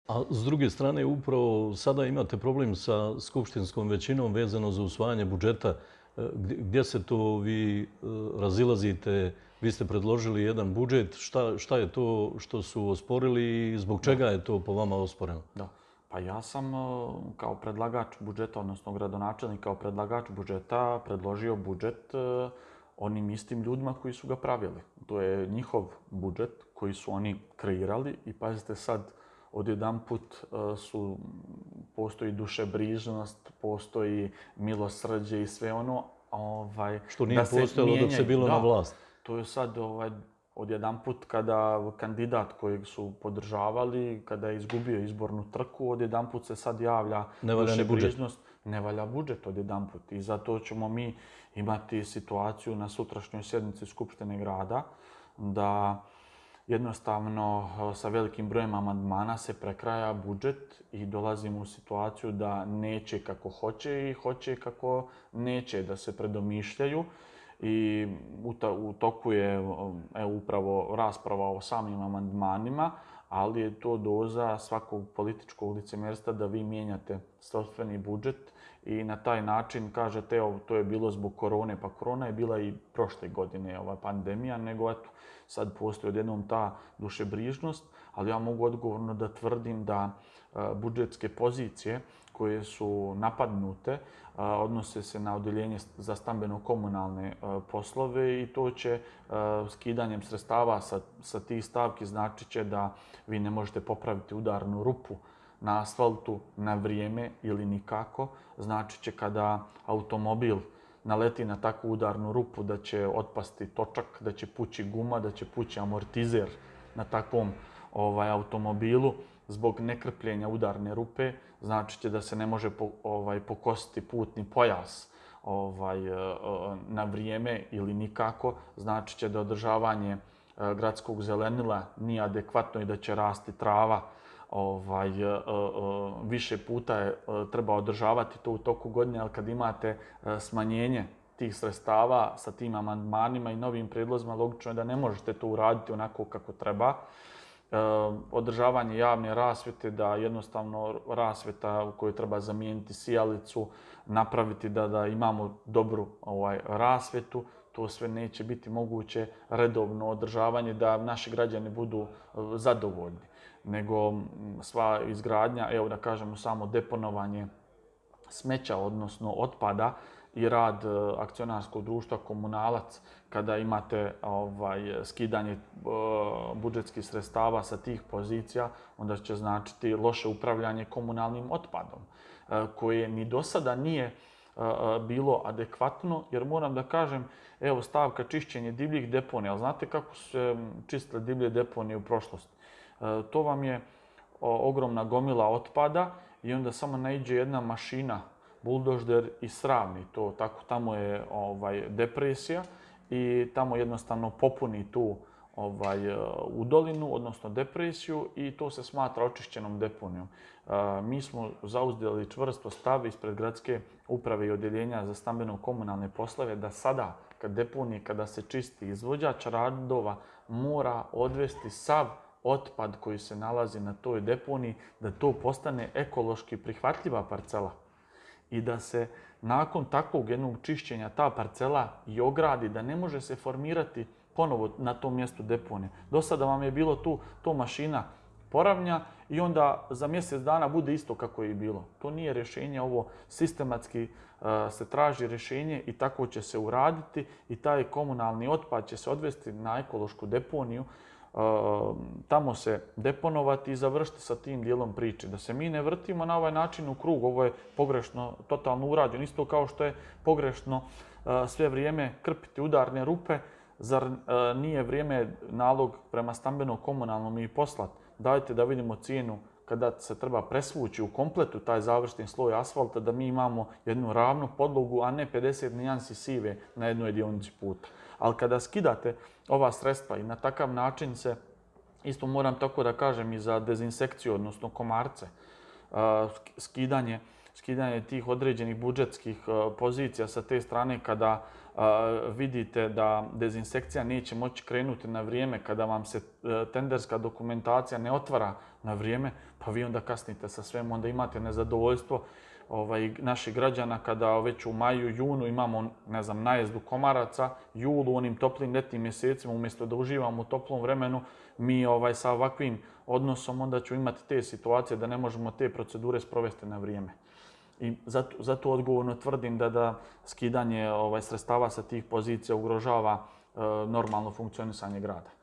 A s druge strane, upravo sada imate problem sa skupštinskom većinom vezano za usvajanje budžeta. Gdje se to vi razilazite? Vi ste predložili jedan budžet. Šta je to što su osporili i zbog čega je to po vama osporeno? Da. Pa ja sam kao predlagač budžeta, odnosno gradonačelnik kao predlagač budžeta predložio budžet onim istim ljudima koji su ga pravili. To je njihov budžet koji su oni kreirali i pazite sad, odjedanput postoji dušebrižnost, postoji milosrđe i sve ono. Što nije postojalo dok se bilo na vlast. To je sad odjedanput kada kandidat kojeg su podržavali, kada je izgubio izbornu trku, odjedanput se sad javlja dušebrižnost. Ne valja budžet odjedanput. I zato ćemo mi imati situaciju na sutrašnjoj sjednici Skupštine grada da jednostavno sa velikim brojem amandmana se prekraja budžet i dolazimo u situaciju da neće kako hoće i hoće kako neće, da se predomišljaju. I u toku je upravo rasprava o samim amandmanima, ali je to doza svakog političkog licemjerstva da vi mijenjate sopstveni budžet i na taj način kažete evo to je bilo zbog korone, pa korona je bila i prošle godine ova pandemija, nego eto sad postoji odjednom ta dušebrižnost, ali ja mogu odgovorno da tvrdim da budžetske pozicije koje su napadnute odnose se na odeljenje za stambeno-komunalne poslove i to će skidanjem sredstava sa tih stavki znači će da vi ne možete popraviti udarnu rupu na asfaltu na vrijeme ili nikako. Znači će kada automobil naleti na takvu udarnu rupu da će otpasti točak, da će pući guma, da će pući amortizer na takvom automobilu zbog nekrpljenja udarne rupe. Znači će da se ne može pokositi putni pojas na vrijeme ili nikako. Znači će da održavanje gradskog zelenila nije adekvatno i da će rasti trava. Više puta treba održavati to u toku godine, ali kad imate smanjenje tih sredstava sa tim amandmanima i novim prijedlozima, logično je da ne možete to uraditi onako kako treba. Održavanje javne rasvjete, da jednostavno rasvjeta u kojoj treba zamijeniti sijalicu, napraviti da imamo dobru rasvjetu, to sve neće biti moguće redovno održavanje da naši građani budu zadovoljni. Nego sva izgradnja, evo da kažemo samo deponovanje smeća, odnosno otpada i rad akcionarskog društva Komunalac, kada imate skidanje budžetskih sredstava sa tih pozicija, onda će značiti loše upravljanje komunalnim otpadom, koje ni do sada nije bilo adekvatno, jer moram da kažem, evo stavka čišćenje divljih deponija, ali znate kako su se čistile divlje deponije u prošlosti? To vam je ogromna gomila otpada i onda samo naiđe jedna mašina, buldožder i sravni to, tako tamo je depresija i tamo jednostavno popuni tu udolinu, odnosno depresiju i to se smatra očišćenom deponijom. Mi smo zauzeli čvrsto stav ispred gradske uprave i odjeljenja za stambeno-komunalne poslove da sada, kad deponije, kada se čisti izvođač radova, mora odvesti sav otpad koji se nalazi na toj deponiji, da to postane ekološki prihvatljiva parcela i da se nakon takvog jednog čišćenja ta parcela i ogradi, da ne može se formirati ponovo na tom mjestu deponije. Do sada vam je bilo tu, to mašina poravnja i onda za mjesec dana bude isto kako je i bilo. To nije rješenje, ovo sistematski se traži rješenje i tako će se uraditi i taj komunalni otpad će se odvesti na ekološku deponiju, tamo se deponovati i završiti sa tim dijelom priče. Da se mi ne vrtimo na ovaj način u krug, ovo je pogrešno, totalno urađeno. Isto kao što je pogrešno sve vrijeme krpiti udarne rupe, zar nije vrijeme nalog prema stambeno-komunalnom i poslat? Dajte da vidimo cijenu kada se treba presvući u kompletu taj završni sloj asfalta, da mi imamo jednu ravnu podlogu, a ne 50 nijansi sive na jednoj dionici puta. Ali kada skidate ova sredstva i na takav način se, isto moram tako da kažem i za dezinsekciju, odnosno komarce, skidanje tih određenih budžetskih pozicija sa te strane kada vidite da dezinsekcija neće moći krenuti na vrijeme, kada vam se tenderska dokumentacija ne otvara na vrijeme, pa vi onda kasnite sa svem, onda imate nezadovoljstvo naših građana kada već u maju, junu imamo, ne znam, najezdu komaraca, julu, u onim toplim letnim mjesecima, umjesto da uživamo u toplom vremenu, mi sa ovakvim odnosom onda ću imati te situacije da ne možemo te procedure sprovesti na vrijeme. I zato odgovorno tvrdim da skidanje sredstava sa tih pozicija ugrožava normalno funkcionisanje grada.